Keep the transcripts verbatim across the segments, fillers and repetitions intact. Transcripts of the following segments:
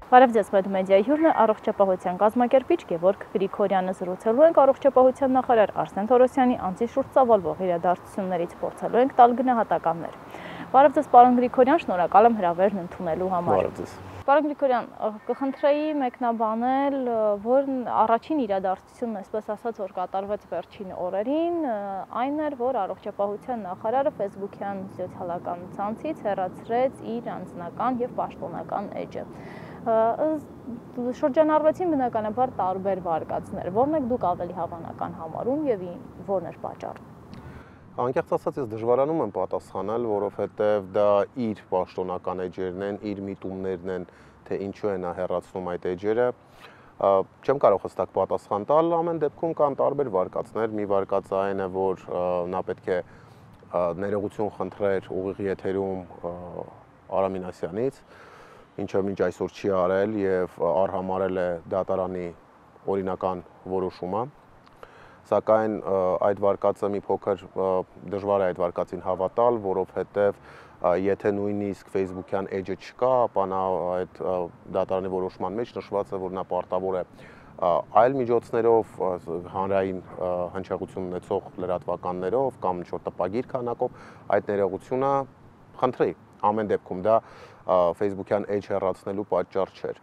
Բարև ձեզ, Մեդմեդիայի հյուրն է առողջապահության կազմակերպիչ Գևորգ Գրիգորյանը։ Զրուցելու ենք առողջապահության նախարար Արսեն Թորոսյանի անձի շուրջ ծավալվող իրադարձություններից, փորձելու ենք տալ գնահատականներ։ Բարև ձեզ, պարոն Գրիգորյան, շնորհակալ եմ հրավերն ընդունելու համար։ Բարև ձեզ։ Պարոն Գրիգորյան, կխնդրեի մեկնաբանել, որ առաջին իրադարձությունն, այսպես ասած, որ կատարվեց վերջին օրերին, այն էր, որ առողջապահության նախարարը Facebook-յան սոցիալական ցանցից հեռացրեց իր անձնական եւ պաշտոնական էջը։ Շրջանառվեցին բնականաբար տարբեր վարկածներ, որն եք դուք ավելի հավանական համարում եւ որն էր պատճառը։ Անկեղծ ասած, ես դժվարանում եմ պատասխանել, որովհետեւ դա իր պաշտոնական էջերն են, իր միտումներն են, թե ինչու է նա հեռացնում այդ էջերը։ Չեմ կարող հստակ պատասխան տալ, ամեն դեպքում կան տարբեր վարկածներ, մի վարկածը այն է, որ նա պետք է ներողություն խնդրեր ուղիղ եթերում Արամ Մինասյանից, ինչը մինչ այսօր չի արել եւ արհամարել է դատարանի օրինական որոշումը, սակայն այդ վարկածը մի փոքր դժվար է այդ վարկածին հավատալ, որովհետեւ եթե նույնիսկ Facebook-յան էջը չկա, ապա նա այդ դատարանի որոշման մեջ նշված է, որ նա պարտավոր է այլ միջոցներով, հանրային հնչեղություն ունեցող լրատվականներով կամ ինչ-որ տպագիր քանակով այդ ներողությունը խնդրի։ Ամեն դեպքում դա Facebook-յան էջ հեռացնելու պատճառ չէր։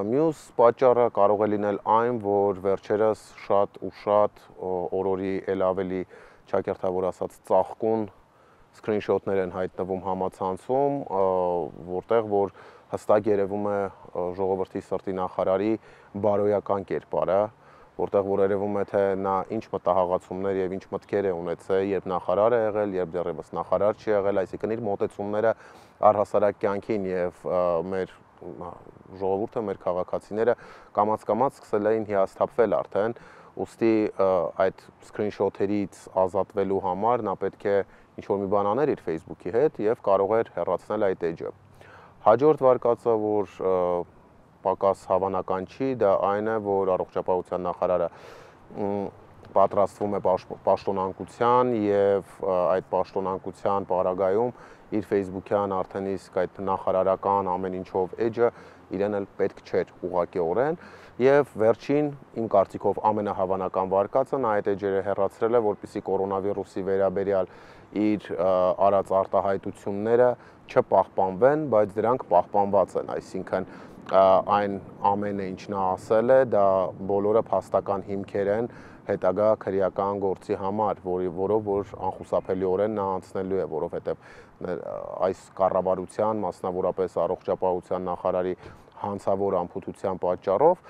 Մյուս պատճառը կարող է լինել այն, որ վերջերս շատ ու շատ օրորի էլ ավելի ճակերտավոր ասած ծաղկուն սկրինշոթներ են հայտնվում համացանցում, որտեղ որ հստակ երևում է ժողովրդի սրտի նախարարի բարոյական կերպարը, որտեղ որ երևում է, թե նա ինչ մտահղացումներ եւ ինչ մտքեր է ունեցել, երբ նախարար է եղել, երբ դեռևս նախարար չի եղել, այսինքն իր մոտեցումները առհասարակ կյանքին եւ մեր ժողովուրդը, մեր քաղաքացիները կամաց-կամաց սկսել էին հիասթափվել արդեն, ուստի այդ սկրինշոթերից ազատվելու համար նա պետք է ինչ-որ մի բան աներ իր Facebook-ի հետ եւ կարող էր հեռացնել այդ էջը։ Հաջորդ վարկածը, որ պակաս հավանական չի, դա այն է, որ առողջապահության նախարարը պատրաստվում է պաշտոնանկության եւ այդ պաշտոնանկության պարագայում իր Facebook-յան արդեն իսկ այդ նախարարական ամեն ինչով էջը իրեն էլ պետք չէր ուղղակիորեն եւ վերջին իմ կարծիքով ամենահավանական վարկածը նա այդ էջերը հեռացրել է, որպեսզի կորոնավիրուսի վերաբերյալ իր արած արտահայտությունները չպահպանվեն, բայց դրանք պահպանված են, այսինքն այն ամենը ինչ նա ասել է, դա բոլորը փաստական հիմքեր են հետագա քրեական գործի համար, որով որ անխուսափելիորեն նա անցնելու է, որովհետև այս կառավարության, մասնավորապես առողջապահության նախարարի հանցավոր անփութության պատճառով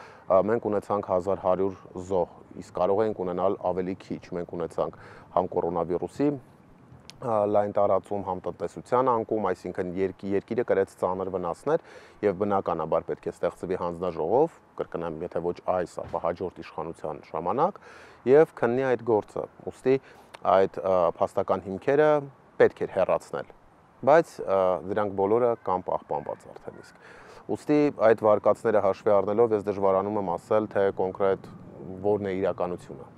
մենք ունեցանք հազար հարյուր զոհ, իսկ կարող էինք ունենալ ավելի քիչ, մենք ունեցանք համ կորոնավիրուսի լայն տարածում, համ տնտեսության անկում, այսինքն երկիրը կրեց ծանր վնասներ եւ բնականաբար պետք է ստեղծվի հանձնաժողով, կրկնեմ, եթե ոչ այս, ապա հաջորդ իշխանության ժամանակ եւ քննի այդ գործը։ Ուստի այդ փաստական հիմքերը պետք էր հեռացնել, բայց դրանք բոլորը կան պահպանված արդեն իսկ։ Ուստի այդ վարկածները հաշվի առնելով ես դժվարանում եմ ասել, թե կոնկրետ որն է իրականությունը։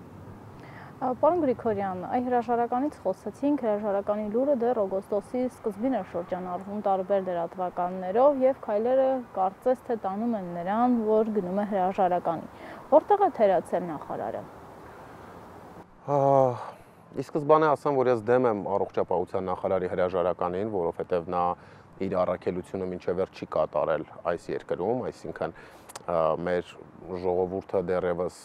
Պարոն Գրիգորյան, այ հրաժարականից խոսեցինք, հրաժարականի լուրը դեռ օգոստոսի սկզբին էր շրջանառվում տարբեր լրատվականներով եւ քայլերը կարծես թե տանում են նրան, որ գնում է հրաժարականի։ Որտեղ է թերացել նախարարը։ Ի սկզբանե ասեմ, որ ես դեմ եմ առողջապահության նախարարի հրաժարականին, որովհետեւ նա իր առաքելությունը մինչև վերջ չի կատարել այս երկրում, այսինքն մեր ժողովուրդը դեռևս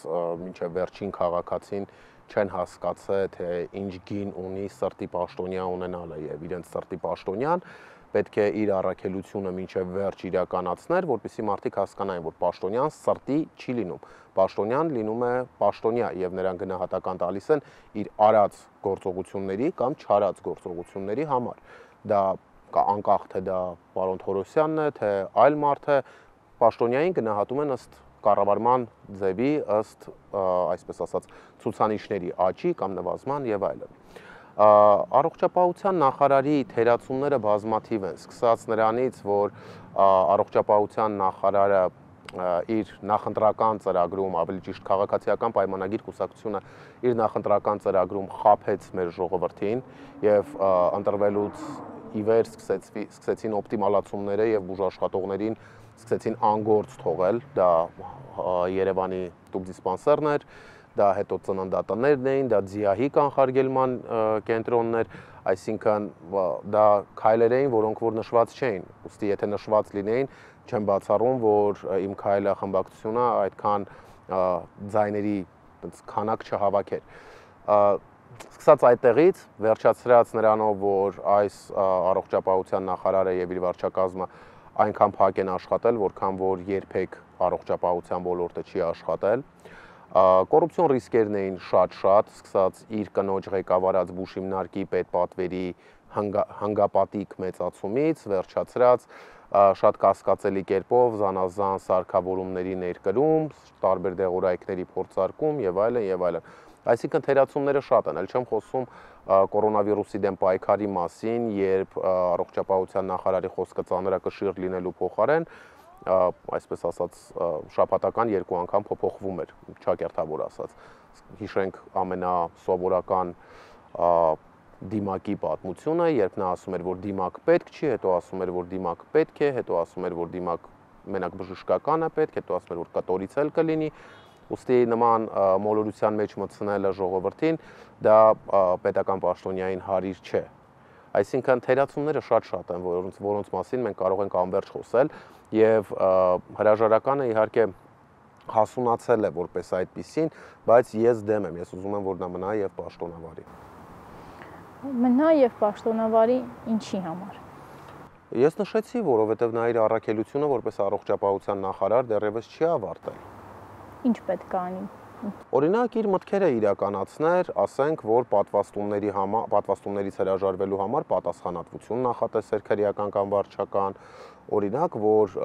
մինչև վերջին քաղաքացին չեն հասկացել, թե ինչ գին ունի սրտի պաշտոնյա ունենալը եւ իրենց սրտի պաշտոնյան պետք է իր առաքելությունը մինչև վերջ իրականացներ, որպեսզի մարդիկ հասկանային, որ պաշտոնյան սրտի չի լինում։ Պաշտոնյան լինում է պաշտոնյա եւ նրան գնահատական տալիս են իր արած գործողությունների կամ չարած գործողությունների համար։ Դա անկախ թե դա պարոն Թորոսյանն է, թե այլ մարդ է, պաշտոնյային գնահատում են ըստ կառավարման ձևի, ըստ այսպես ասած ցուցանիշների աճի կամ նվազման եւ այլն։ Առողջապահության նախարարի թերացումները բազմաթիվ են, սկսած նրանից, որ առողջապահության նախարարը իր նախընտրական ծրագրում, ավելի ճիշտ քաղաքացիական պայմանագիր կուսակցությունը իր նախընտրական ծրագրում խաբեց մեր ժողովրդին եւ ընտրվելուց ի վեր սկսեցին օպտիմալացումները եւ բուժաշխատողներին սկսեցին անգործ թողել, դա Երևանի տուբդիսպանսերն էր, դա հետո ծննդատներն էին, դա ՁԻԱՀ-ի կանխարգելման կենտրոններ, այսինքն դա քայլեր էին, որոնք որ նշված չէին, ուստի եթե նշված լինեին, չեմ բացառում, որ իմ քայլը խմբակցությունը այդքան ձայների քանակ չհավաքեր։ Սկսած այդտեղից, վերջացրած նրանով, որ այս առողջապահության նախարարը եւ իր վարչակազմը այնքան փակ են աշխատել, որքան որ երբեք առողջապահության ոլորտը չի աշխատել։ Կոռուպցիոն ռիսկերն էին շատ-շատ, սկսած իր կնոջ ղեկավարած բուժհիմնարկի պետպատվերի հանգապատիկ մեծացումից, վերջացրած շատ կասկածելի կերպով զանազան սարքավորումների ներկրում, տարբեր դեղորայքների փորձարկում եւ այլն եւ այլն։ Այսինքն թերացումները շատ են, ել չեմ խոսում կորոնավիրուսի դեմ պայքարի մասին, երբ առողջապահության նախարարի խոսքը ծանրակշիռ լինելու փոխարեն, այսպես ասած, շաբաթական երկու անգամ փոփոխվում էր, ճակերտավոր ասած։ Հիշենք ամենասովորական դիմակի պատմությունը, երբ նա ասում էր, որ դիմակ պետք չի, հետո ասում էր, որ դիմակ պետք է, հետո ասում էր, որ դիմակ մենակ բժշկական է պետք, հետո ասում էր, որ կտորից էլ կլինի։ Ուստի նման մոլորության մեջ մտցնելը ժողովրդին դա պետական պաշտոնյային հարիր չէ։ Այսինքն թերացումները շատ-շատ են, որոնց որոնց մասին մենք կարող ենք անվերջ խոսել եւ հրաժարականը իհարկե հասունացել է որպես այդպիսին, բայց ես դեմ եմ, ես ուզում եմ որ նա մնա եւ պաշտոնավարի։ Մնա եւ պաշտոնավարի ինչի համար։ Ես նշեցի, որովհետեւ նա իր առաքելությունը որպես առողջապահության նախարար դեռևս չի ավարտել։ Ինչ պետք է անի։ Օրինակ իր մտքերը իրականացներ, ասենք, որ պատվաստումների համար, պատվաստումներից հրաժարվելու համար պատասխանատվություն նախատեսեր քրեական կամ վարչական, օրինակ, որ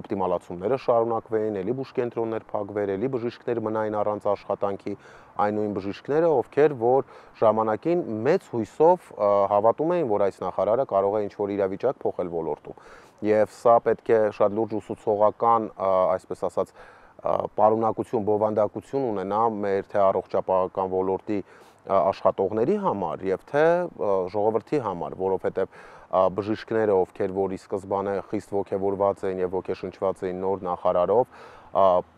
օպտիմալացումները շարունակվեին, ելի բուժկենտրոններ փակվեր, ելի բժիշկներ մնային առանց աշխատանքի, այն նույն բժիշկները, ովքեր որ ժամանակին մեծ հույսով հավատում էին, որ այս նախարարը կարող է ինչ-որ իրավիճակ փոխել ոլորտում։ Եվ սա պետք է շատ լուրջ ուսուցողական, այսպես ասած, պարունակություն, բովանդակություն ունենա մեր թե առողջապահական ոլորտի աշխատողների համար եւ թե ժողովրդի համար, որովհետեւ բժիշկները, ովքեր որ ի սկզբանե խիստ ոգևորված էին եւ ոգեշնչված էին նոր նախարարով,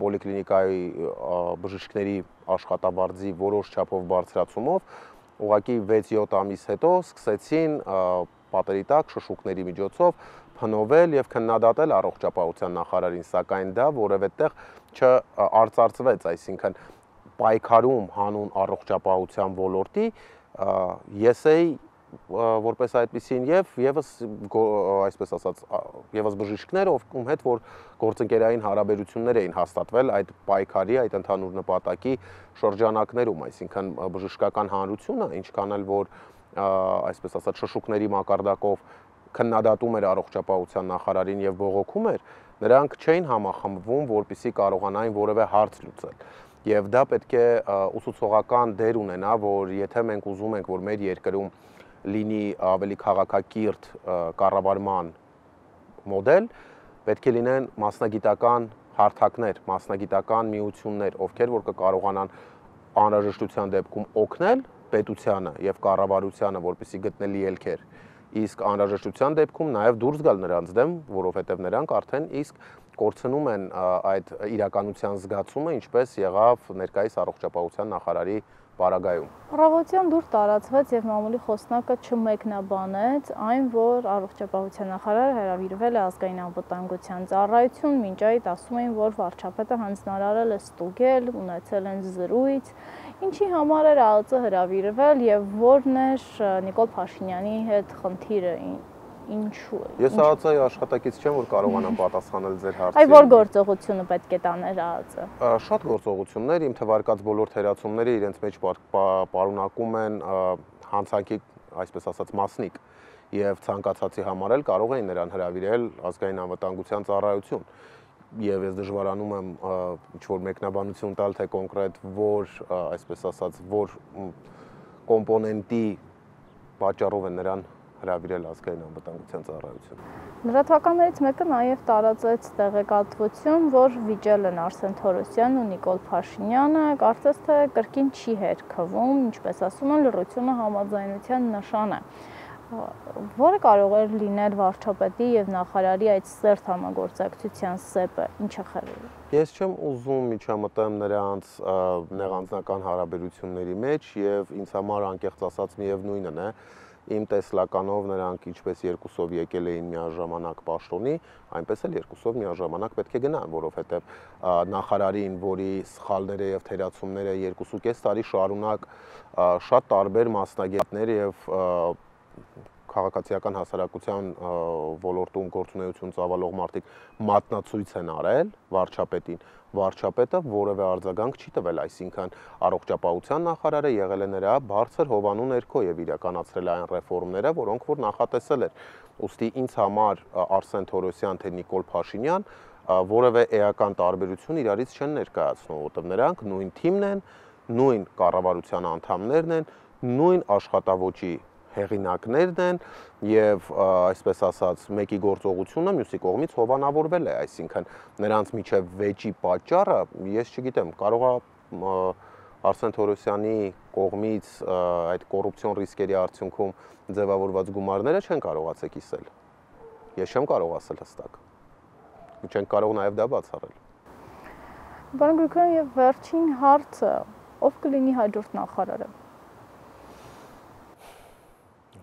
պոլիկլինիկայի բժիշկների աշխատավարձի որոշ չափով բարձրացումով, ուղղակի վեց-յոթ ամիս հետո սկսեցին պատերի տակ շշուկների միջոցով փնովել եւ քննադատել առողջապահության նախարարին, սակայն դա որևէ տեղ չարծարծվեց, այսինքն պայքարում հանուն առողջապահության ոլորտի ես էի որպես այդպեսին եւ եւս այսպես ասած եւս բժիշկները, ում հետ որ գործընկերային հարաբերություններ էին հաստատվել այդ պայքարի, այդ ընդհանուր նպատակի շրջանակներում, այսինքն բժշկական հանրությունը, ինչքան էլ որ այսպես ասած շշուկների մակարդակով քննադատում էր առողջապահության նախարարին եւ բողոքում էր, նրանք չէին համախմբվում, որպեսզի կարողանային որևէ հարց լուծել։ Եվ դա պետք է ուսուցողական դեր ունենա, որ եթե մենք ուզում ենք, որ մեր երկրում լինի ավելի քաղաքակիրթ կառավարման մոդել, պետք է լինեն մասնագիտական հարթակներ, մասնագիտական միություններ, ովքեր որ կկարողանան անհրաժեշտության դեպքում օգնել պետությանը եւ կառավարությանը, որպեսզի գտնելի ելքեր, իսկ անհրաժեշտության դեպքում նաեւ դուրս գալ նրանց դեմ, որովհետեւ նրանք արդեն իսկ կորցնում են այդ իրականության զգացումը, ինչպես եղավ ներկայիս առողջապահության նախարարի պարագայում։ Առավոտյան դուր տարածվեց եւ մամուլի խոսնակը չմեկնաբանեց այն, որ առողջապահության նախարարը հրավիրվել է ազգային անվտանգության ծառայություն, մինչ այդ ասում էին, որ վարչապետը հանձնարարել է ստուգել, ունեցել են զրույց, ինչի համար էր ԱԱԾ հրավիրվել եւ որն էր Նիկոլ Փաշինյանի հետ խնդիրը, ինչու է։ Ես ԱԱԾ-ի աշխատակից չեմ, որ կարողանամ պատասխանել ձեր հարցին։ Այ որ գործողությունը պետք է տաներ ԱԱԾ։ Շատ գործողություններ, իմ թվարկած բոլոր թերացումները իրենց մեջ պարունակում են հանցանքի, այսպես ասած, մասնիկ, եւ ցանկացածի համար էլ կարող էին նրան հրավիրել ազգային անվտանգության ծառայություն։ Եվ ես դժվարանում եմ ինչ-որ մեկնաբանություն տալ, թե կոնկրետ որ, այսպես ասած, որ կոմպոնենտի պատճառով են նրան հրավիրել ազգային անվտանգության ծառայություն։ Լրատվականներից մեկը նաև տարածեց տեղեկատվություն, որ վիճել են Արսեն Թորոսյանն ու Նիկոլ Փաշինյանը, կարծես թե կրկին չի հերքվում, ինչպես ասում են, լռությունը համաձայնության նշան է։ Որը կարող էր լինել վարչապետի եւ նախարարի այդ սերտ համագործակցության սեպը, ինչը խրել։ Ես չեմ ուզում միջամտեմ նրանց նեղանձնական հարաբերությունների մեջ եւ ինձ համար անկեղծ ասած միևնույնն է, իմ տեսլականով նրանք ինչպես երկուսով եկել էին միաժամանակ պաշտոնի, այնպես էլ երկուսով միաժամանակ պետք է գնան, որովհետեւ նախարարին, որի սխալները եւ թերացումները երկուսուկես տարի շարունակ շատ տարբեր մասնագետներ եւ քաղաքացիական հասարակության ոլորտում գործունեություն ծավալող մարդիկ մատնացույց են արել վարչապետին, վարչապետը որևէ արձագանք չի տվել, այսինքն առողջապահության նախարարը եղել է նրա բարձր հովանու ներքո եւ իրականացրել այն ռեֆորմները, որոնք որ նախատեսել էր։ Ուստի ինձ համար Արսեն Թորոսյան թե Նիկոլ Փաշինյան որևէ էական տարբերություն իրարից չեն ներկայացնում, որտեղ նրանք նույն թիմն են, նույն կառավարության անդամներն են, նույն աշխատավոճի հեղինակներն են եւ այսպես ասած մեկի գործողությունը մյուսի կողմից հովանավորվել է, այսինքն նրանց միջև վեճի պատճառը ես չգիտեմ, կարող է Արսեն Թորոսյանի կողմից այդ կոռուպցիոն ռիսկերի արդյունքում ձևավորված գումարները չեն կարողացել կիսել։ Ես չեմ կարող ասել հստակ։ Չեն կարող նաեւ դա բացառել։ Պարոն Գրիգորյան, եւ վերջին հարցը, ով կլինի հաջորդ նախարարը։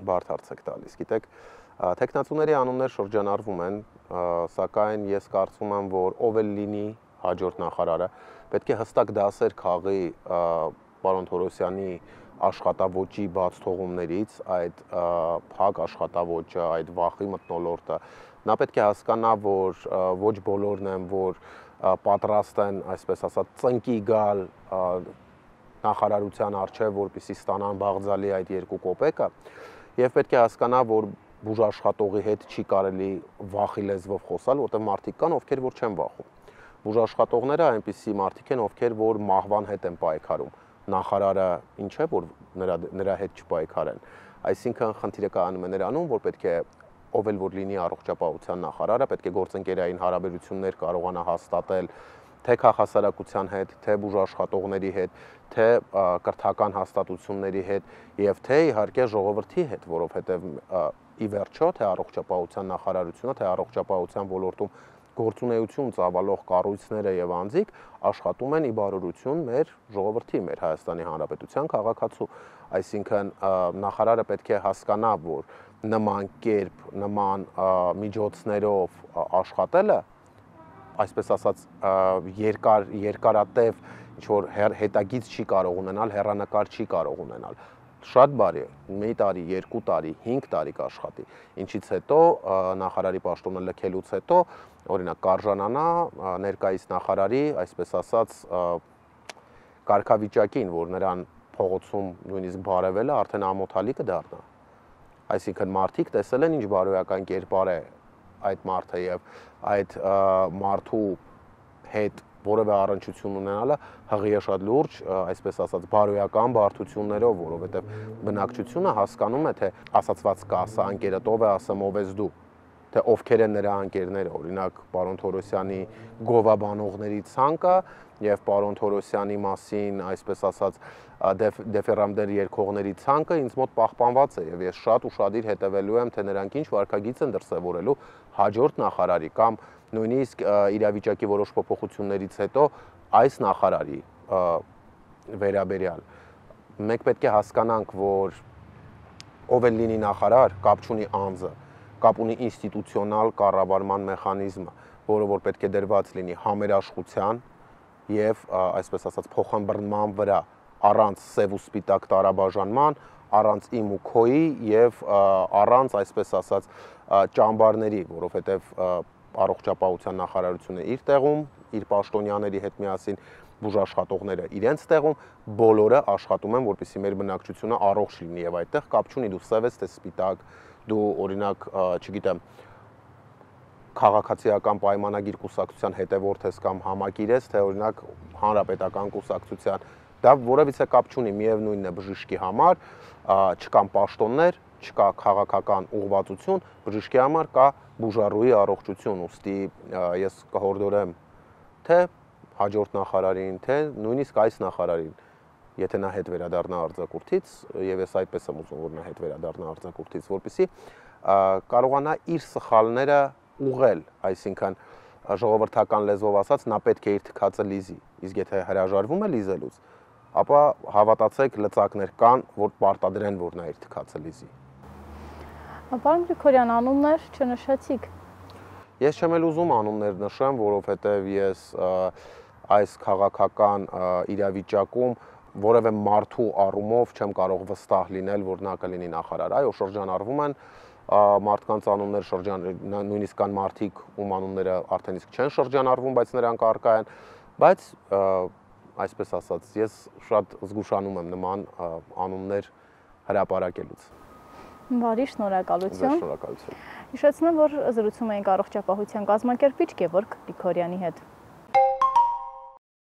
Բարդ հարց եք տալիս, գիտեք, տեխնացուների անուններ շրջանառվում են, սակայն ես կարծում եմ, որ ով էլ լինի հաջորդ նախարարը, պետք է հստակ դասեր քաղի պարոն Թորոսյանի աշխատավոճի բաց թողումներից, այդ փակ աշխատավոճը, այդ վախի մթնոլորտը, նա պետք է հասկանա, որ ոչ բոլորն են, որ պատրաստ են, այսպես ասած, ծնկի գալ նախարարության առջև, որպեսզի ստանան բաղձալի այդ երկու կոպեկը, եւ պետք է հասկանա, որ բուժաշխատողի հետ չի կարելի վախի լեզվով խոսալ, որտեղ մարդիկ կան, ովքեր որ չեն վախում։ Բուժաշխատողները այնպիսի մարդիկ են, ովքեր որ մահվան հետ են պայքարում։ Նախարարը ինչ է, որ նրա նրա հետ չպայքարեն։ Այսինքն խնդիրը կայանում է նրանում, որ պետք է ով էլ որ լինի առողջապահության նախարարը, պետք է գործընկերային հարաբերություններ կարողանա հաստատել թե քաղաքասարակության հետ, թե բուժաշխատողների հետ, թե կրթական հաստատությունների հետ եւ թե իհարկե ժողովրդի հետ, որովհետեւ ի վերջո թե առողջապահության նախարարությունը, թե առողջապահության ոլորտում գործունեություն ծավալող կառույցները եւ անձիկ աշխատում են ի բարօրություն մեր ժողովրդի, մեր Հայաստանի Հանրապետության քաղաքացու, այսինքն նախարարը պետք է հասկանա, որ նման կերպ, նման միջոցներով աշխատելը այսպես ասած երկար երկարատև ինչ որ հետագից չի կարող ունենալ, հեռանկար չի կարող ունենալ։ Շատ բարի է, մի տարի, երկու տարի, հինգ տարի կաշխատի, ինչից հետո նախարարի պաշտոնը լքելուց հետո օրինակ կարժանանա ներկայիս նախարարի, այսպես ասած, կարգավիճակին, որ նրան փողոցում նույնիսկ բարևելը արդեն ամոթալի կդառնա։ Այսինքն մարդիկ տեսել են ինչ բարոյական կերպար է այդ մարդը եւ այդ մարդու հետ որևէ առնչություն ունենալը հղի է շատ լուրջ, այսպես ասած, բարոյական բարդություններով, որովհետեւ բնակչությունը հասկանում է, թե ասացված կա, ասա անկերդ ով է, ասեմ ով ես դու, թե ովքեր են նրա անկերները, օրինակ պարոն Թորոսյանի գովաբանողների ցանկը եւ պարոն Թորոսյանի մասին, այսպես ասած, դեֆերամդեր երկողների ցանկը ինձ մոտ պահպանված է եւ ես շատ ուշադիր հետևելու եմ, թե նրանք ինչ վարկագիծ են դրսեւորելու հաջորդ նախարարի կամ նույնիսկ իրավիճակի որոշ փոփոխություններից հետո այս նախարարի վերաբերյալ մենք պետք է հասկանանք, որ ով էլ լինի նախարար, կապ չունի անձը, կապ ունի ինստիտուցիոնալ կառավարման մեխանիզմը, որը որ պետք է դրված լինի համերաշխության եւ այսպես ասած փոխանբռնման վրա, առանց սև ու սպիտակ տարաբաժանման, առանց իմ ու քոյի եւ առանց այսպես ասած ճամբարների, որովհետեւ առողջապահության նախարարությունը իր տեղում, իր պաշտոնյաների հետ միասին բուժաշխատողները իրենց տեղում, բոլորը աշխատում են, որպեսզի մեր բնակչությունը առողջ լինի եւ այդտեղ կապ չունի դու սև ես թե սպիտակ, դու օրինակ, չգիտեմ, քաղաքացիական պայմանագիր կուսակցության հետևորդ ես կամ համակիր ես, թե օրինակ հանրապետական կուսակցության, դա որևիցե կապ չունի, միևնույնն է բժշկի համար, չկան պաշտոններ, չկա քաղաքական ուղղվածություն, բժշկի համար կա բուժառուի առողջություն, ուստի ես կհորդորեմ թե հաջորդ նախարարին, թե նույնիսկ այս նախարարին եթե նա հետ վերադառնա արձակուրդից, եւ ես այդպես եմ ուզում, որ նա հետ վերադառնա արձակուրդից, որպեսզի կարողանա իր սխալները ուղղել, այսինքն ժողովրդական լեզվով ասած, նա պետք է իր թքածը լիզի, իսկ եթե հրաժարվում է լիզելուց, ապա հավատացեք, լծակներ կան, որ պարտադրեն, որ նա իր թքածը լիզի։ Պարոն Գրիգորյան, անուններ չնշեցիք։ Ես չեմ էլ ուզում անուններ նշեմ, որովհետև ես այս քաղաքական իրավիճակում որևէ մարդու առումով չեմ կարող վստահ լինել, որ նա կլինի նախարար։ Այո, շրջանառվում են մարդկանց անուններ, շրջան նույնիսկ կան մարդիկ, ում անունները արդեն իսկ չեն շրջանառվում, բայց նրանք առկա են, բայց այսպես ասած, ես շատ զգուշանում եմ նման անուններ հրապարակելուց։ Բարի, շնորհակալություն։ Շնորհակալություն։ Հիշեցնեմ, որ զրուցում էինք առողջապահության կազմակերպիչ Գևորգ Գրիգորյանի հետ։